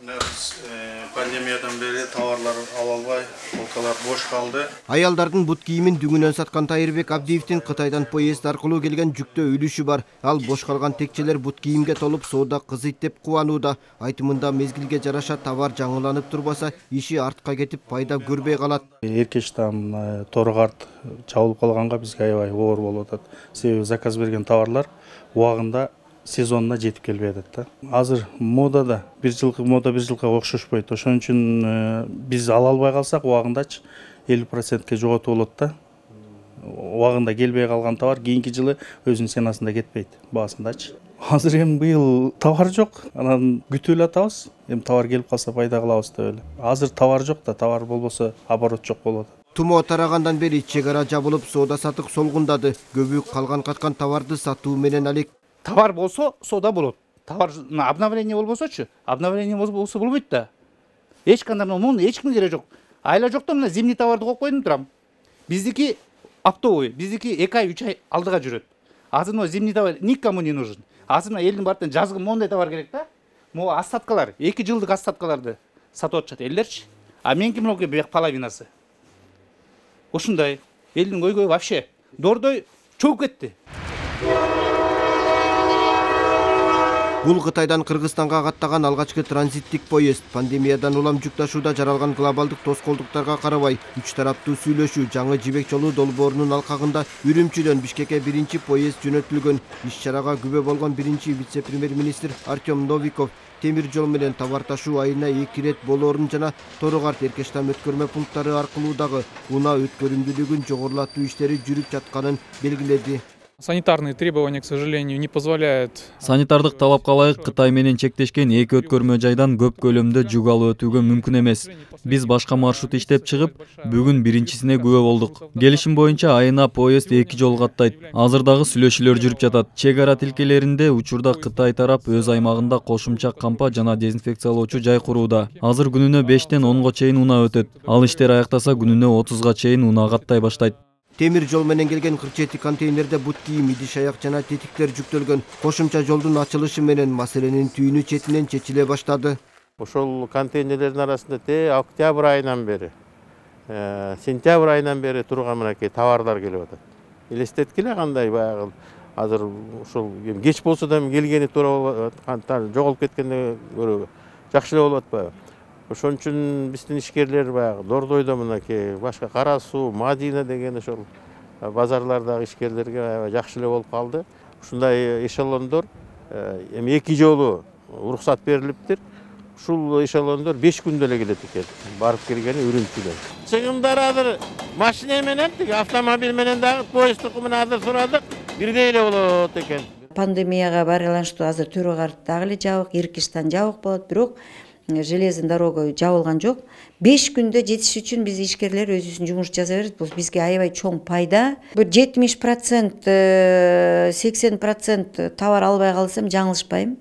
Пандемиядан бери товарлар ала албай, полкалар бош калды. Аялдардын бут кийимин дүңүнөн саткан Тайырбек Абдиевдин Кытайдан поезд аркылуу келген жүктө үлүшү бар. Ал бош калган текчелер бут кийимге толуп соода кызыйт деп кубанууда. Айтымында мезгилге жараша товар жаңыланып турбаса, иши артка кетип пайда көрбөй калат. Эркечтан торгарт чабылып калганга бизге аябай оор болуп атат. Себеби заказ берген товарлар убагында сезонуна жетип келбей атат да. Азыр модада бир жылкы окшошпойт. Ошон үчүн биз ала албай калсак убагындачы 50%ке жоготуп болот да. Убагында келбей калган товар кийинки жылы өзүнүн ценасында кетпейт, баасындачы. Азыр эми быйыл товар жок, анан күтүп эле атабыз. Эми товар келип калса пайда кылабыз деп эле. Азыр товар жок да, товар болбосо оборот жок болот. Тумоо тарагандан бери чек ара жабылып, соода сатык солгундады. Көбү калган каткан товарды сатуу менен алек. Товар болсо соода болот. Товар обновление болбосочу, обновление болсо болбойт да. Эч кандай муну эч кимге кереги жок. Айла жок да, мына зимний товарды коюп койдум турам. Биздики оптовый, биздики 2 ай 3 ай алдыга жүрөт. Азыр мына зимний товар никому не нужен. Азыр мына элдин баарына жазгы мондай товар керек да. Могу остаткалар, 2 жылдык остаткаларды сатып атышат элдерчи. А меники мынакей бияк половинасы. Ушундай элдин көйгөйү вообще дордой чөгүп кетти. Бул Кытайдан Кыргызстанга каттаган алгачкы транзиттик поезд. Пандемиядан улам жүк ташууда жаралган глобалдык тоскоолдуктарга карабай, үч тараптуу сүйлөшүү жаңы жибек жолу долбоорунун алкагында Үрүмчүдөн Бишкекке биринчи поезд жөнөтүлгөн. Иш-чарага күбө болгон биринчи вице-премьер-министр Артем Новиков темир жол менен товар ташуу айына 2 рет болоорун жана Тору-Карт Эркештам өткөрмө пункттары аркылуу дагы унаа өткөрүмдүүлүгүн жогорулатуу иштери жүрүп жатканын белгиледи. Санитарные требования, к сожалению, не позволяют. Санитардык талапка ылайык Кытай менен чектешкен 2 өткөрмө жайдан көп көлөмдө жүк алып өтүүгө мүмкүн эмес. Биз башка маршрут иштеп чыгып, бүгүн биринчисине күбө болдук. Келишим боюнча айына поезд 2 жол каттайт. Азыр дагы сүйлөшүүлөр жүрүп жатат. Чек ара тилкелеринде учурда Кытай тарап өз аймагында кошумча кампа жана дезинфекциялоочу жай курууда. Азыр күнүнө 5-тен 10го чейин унаа өтөт. Ал иштер аяктаса күнүнө 30га чейин унаа каттай баштайт. Темир жол менен келген 47 контейнерде бут кийим, идиш аяк жана тетиктер жүктөлгөн. Кошумча жолдун ачылышы менен маселенин түйүнү четинен чечиле баштады. Ошол контейнерлердин арасында октябрь айынан бери, сентябрь айынан бери турган мынакей товарлар келип атат. Элестеткиле кандай баягы азыр ошол кеч болсо да келгени туура болот, жоголуп кеткенде көрө жакшы эле болуп атпайбы? Ошон үчүн биздин ишкерлер баягы Дордойдо мынакей башка Кара Суу, Мадина деген ошол базарлардагы ишкерлерге аябай жакшы эле болуп калды. Ушундай эшелондор эми 2 жолу уруксат берилиптир. Ушул эшелондор 5 күндө эле келет экен. Барып келгени Үрүмчүдөн. Чыгымдар азыр машина менен, автомобиль менен дагы поездтук менен азыр сурадык, бирдей эле болот экен. Пандемияга байланыштуу азыр Төрөгарт дагы эле жабык, Иркиштан жабык болот, бирок железный дорога жабылган жок. 5 күндө жетиш үчүн биз ишкерлер өзүбүздүн жумуш жасай берет. Бул бизге аябай чоң пайда. Бир 70%, 80% товар албай калсам жаңылышпайм.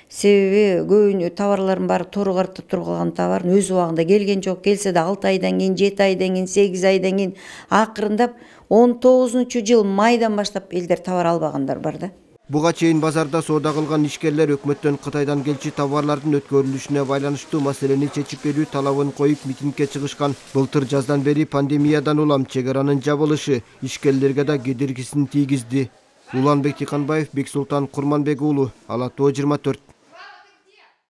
Себеби көбүнө товарлардын баары Тору-Картта турган товар өз убагында келген жок. Келсе да 6 айдан кийин, 7 айдан кийин, 8 айдан кийин, акырындап 19-жыл майдан баштап элдер товар албагандар бар да. Буга чейин базарда соода кылган ишкерлер өкмөттөн Кытайдан келчү товарлардын өткөрүлүшүнө байланыштуу маселени чечип берүү талабын коюп митингге чыгышкан. Былтыр жаздан бери пандемиядан улам чек аранын жабылышы ишкерлерге да кедергисин тийгизди. Уланбек Тиканбаев, Бексултан Курманбек уулу, Ала Тоо 24.